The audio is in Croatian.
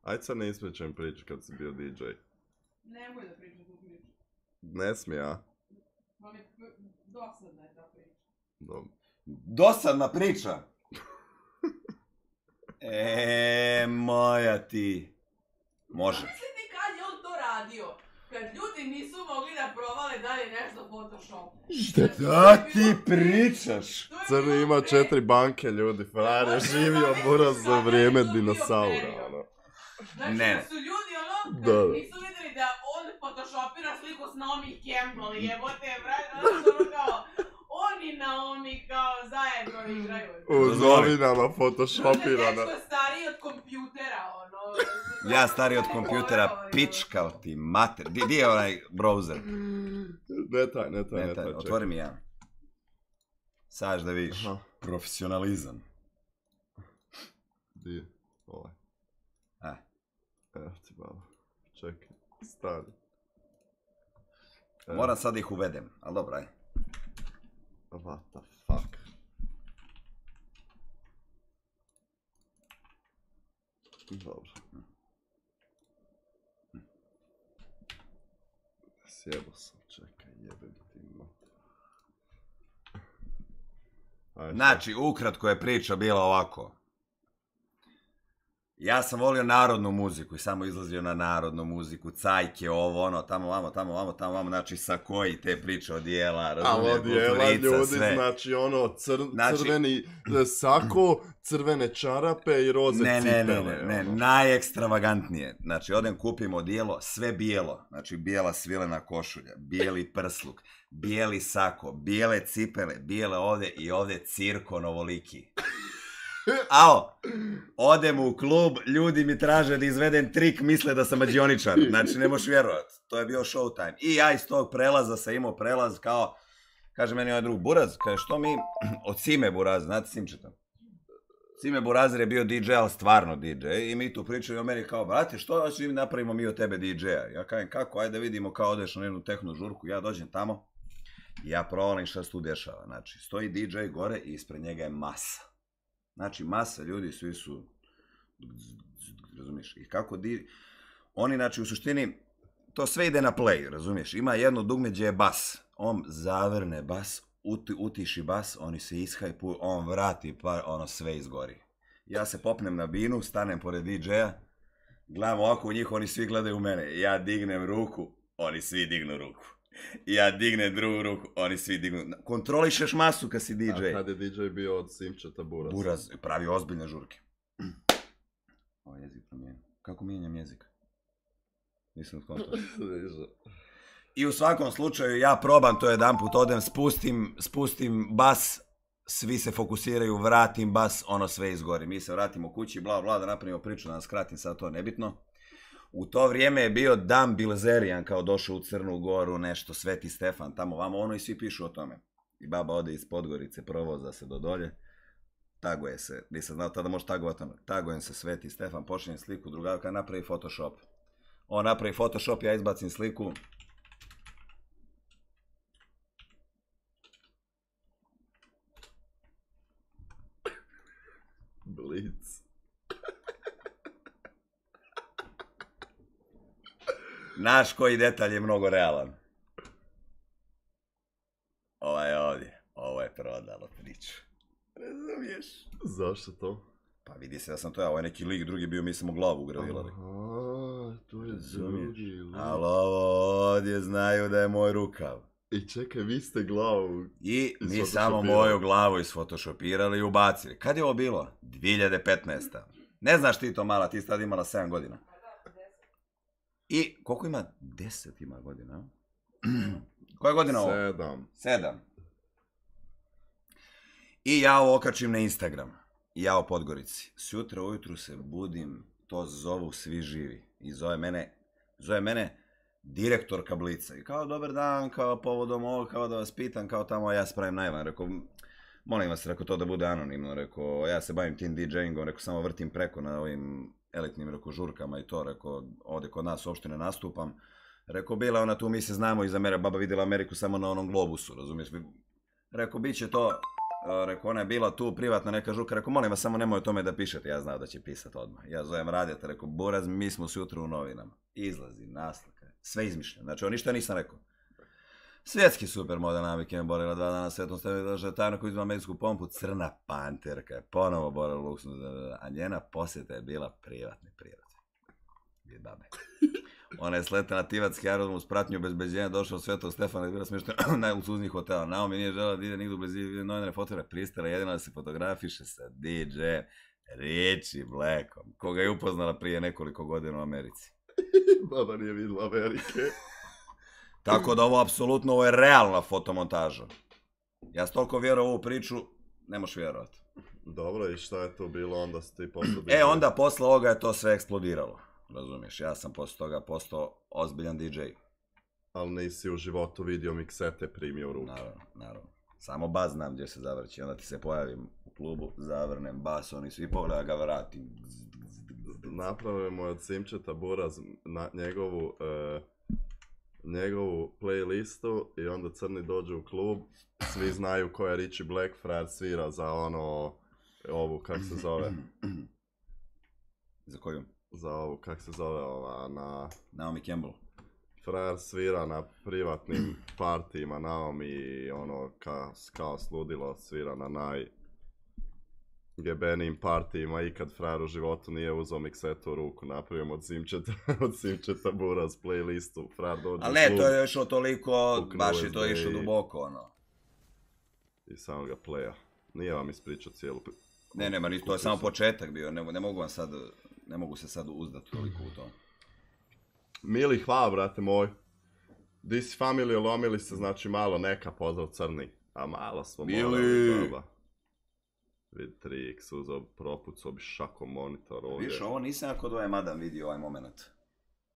Ajde sad ne ispričam priču kad si bio DJ. Nemoj da pričam tu priču. Ne smije, a? Dosadna je ta priča. Dobro. Dosadna priča? Moja ti. Može. Mislite kad je on to radio? Kad ljudi nisu mogli da provale dalje nešto Photoshop. Šta ti pričaš? Crni ima 4 banke, ljudi. Frajer je živio buraz za vrijeme dinosaura, ono. Znači Ne. da su ljudi ono, Da. kad nisu vidjeli da on photoshopira sliku s Naomi Campbell, jebote, brate, ono kao, on i Naomi kao zajedno igraju. U novinama photoshopirana. Dečko je stariji od kompjutera, ono. Ja stariji od kompjutera, pičkao ti mater. Di je onaj browser? Ne taj, Otvori mi ja. Sad da vidiš. Aha. Profesionalizam. Di je? Ovaj. A. Evo ti malo. Čekaj, stani. Moram sad ih uvedem, ali dobro, aj. What the fuck? Dobro. Sjebo sam, čekaj, jebem ti mater. Ajde. Znači, ukratko je priča bila ovako. Ja sam volio narodnu muziku i samo izlazio na narodnu muziku, cajke, ovo, ono, tamo, vamo, znači sakoji te priče odijela, razumije, odijela, kulturica, ljudi, sve. znači ono, Znači- crveni sako, crvene čarape i roze cipele. Ne, ono. najekstravagantnije. Znači, odem kupim odijelo, sve bijelo, znači bijela svilena košulja, bijeli prsluk, bijeli sako, bijele cipele, bijele ovde i ovde cirkon ovoliki. Ao, odem u klub, ljudi mi traže da izvedem trik, misle da sam mađioničar, znači ne možeš vjerovat, to je bio showtime. I ja iz tog prelaza sam imao prelaz kao, kaže meni ovaj drug, Buraz, kaže što mi, od Sime Buraz, znate Simčeta? Sime Burazir je bio DJ, ali stvarno DJ, i mi tu pričaju o meni kao, brate, što hoćeš mi napravimo mi od tebe DJ-a? Ja kažem, kako, ajde vidimo kao odeš na jednu tehno žurku, ja dođem tamo, i ja provalim šta se tu dešava, znači, stoji DJ gore i ispred njega je masa. Znači, masa ljudi, svi su, razumiješ, i kako oni, znači, u suštini, to sve ide na play, razumiješ, ima jedno dugme gdje je bas, on zavrne bas, utiši bas, oni se ishajpuju, on vrati, pa ono sve izgori. Ja se popnem na binu, stanem pored DJ-a, gledam ovako u njih, oni svi gledaju u mene, ja dignem ruku, oni svi dignu ruku. Ja dignem drugu ruku, oni svi dignu. Kontrolišeš masu kad si DJ. A kad je DJ bio od Simčeta Buraz? Buraz pravi ozbiljne žurke. Ovo jezik promijenim. Kako mijenjam jezik? Nisam skontao. I u svakom slučaju ja probam to jedan put, odem, spustim bas, svi se fokusiraju, vratim bas, ono sve izgori. Mi se vratimo kući, bla bla, da napravimo priču, da nas kratim, sad to nebitno. U to vrijeme je bio Dan Bilzerijan, kao došao u Crnu Goru, nešto, Sveti Stefan, tamo vamo, ono i svi pišu o tome. I baba ode iz Podgorice, provoza se do dolje, taguje se, nisam znao tada može tagovati ono, tagujem se Sveti Stefan, počinjem sliku, drugavka napravi Photoshop. On napravi Photoshop, ja izbacim sliku. Blitz. Naš koji detalj je mnogo realan. Ovaj ovdje, ovo je prodalo priču. Razumiješ? Zašto to? Pa vidi se da sam to ja, ovo je neki lik, drugi bio, mi smo glavu ugradilali. Aha, to je drugi lik. Ali ovo ovdje znaju da je moj rukav. I čekaj, vi ste glavu I mi samo isfotošopirali. moju glavu isfotošopirali i ubacili. Kad je ovo bilo? 2015. Ne znaš ti to mala, ti si tada imala 7 godina. I koliko ima? 10 ima godina. Koja je godina ovo? 7. 7. I ja ovo okačim na Instagram. Ja u Podgorici. Sutra ujutru se budim, to zovu svi živi. I zove mene direktorka Blica. I kao, dobar dan, kao povodom ovo, kao da vas pitam, kao tamo ja spravim najvan. Rekao, molim vas, rekao, to da bude anonimno. Rekao, ja se bavim tim DJingom, rekao, samo vrtim preko na ovim elitnim, rekao, žurkama i to. Rekao, ovdje kod nas uopšte ne nastupam. Rekao, bila ona tu, mi se znamo iz Amerike, baba vidjela Ameriku samo na onom globusu, razumiješ? Rekao, bit će to Rekao, ona je bila tu privatno neka žuka, rekao, molim vas, samo nemoj o tome da pišete, ja znao da će pisat odmah. Ja zovem radijata, rekao, Buraz, mi smo sutra u novinama. Izlazi, naslika, sve izmišljeno, znači on ništa nisam rekao. Svjetski supermodel Naomi Campbell borila 2 dana svetom stavi došla tajno koju izma medijsku pompu, crna panterka je ponovo borila luksnu, a njena posjeta je bila privatne prirode. Babe. Ona je sletela na Tivatski aerodrom uz pratnju obezbeđenja, došla od Svetog Stefana i bila smještena u najluksuznijih hotela. Naomi nije žela da ide nigdje u blizini novinare fotore, pristala jedina da se fotografiše sa DJ Richie Blackom, koga je upoznala prije nekoliko godina u Americi. Baba nije vidjela Amerike. Tako da ovo je realna fotomontaža. Ja s toliko vjerujem u ovu priču, ne možeš vjerovati. Dobro, i šta je to bilo onda ste ti posle... Onda posle ovoga je to sve eksplodiralo. Razumiješ, ja sam posle toga postao ozbiljan DJ. Ali nisi u životu vidio miksete primio u ruku. Naravno. Samo bas znam gdje se zavrći. Onda ti se pojavim u klubu, zavrnem bas, oni svi pogleda ga vratim. Napravimo od Simčeta Buraz na njegovu playlistu i onda crni dođu u klub. Svi znaju ko je Richie Blackfriar, svira za ovu, kak se zove? Za koju? Za ovu, kak se zove na... Naomi Campbell. Frajer svira na privatnim partijima, Naomi kao sludilo svira na najgebenijim partijima. Ikad frajer u životu nije uzao miksetu u ruku, napravimo od Simčeta Buraz playlistu, frajer dođe u klub. Ali ne, to je išlo toliko, baš je to išlo duboko, I samo ga playa. Nije vam ispričao cijelu... Ne, to je samo početak bio, ne mogu se sad uzdati toliko u to. Mili, hvala, brate moj. Di si familiju, lomili se, znači malo neka pozdrav crni. A malo smo morali, baba. Vid 3x uzao, propucao bi šakom monitor ovdje. Viš, ovo nisam ako dojem Adam vidio ovaj moment.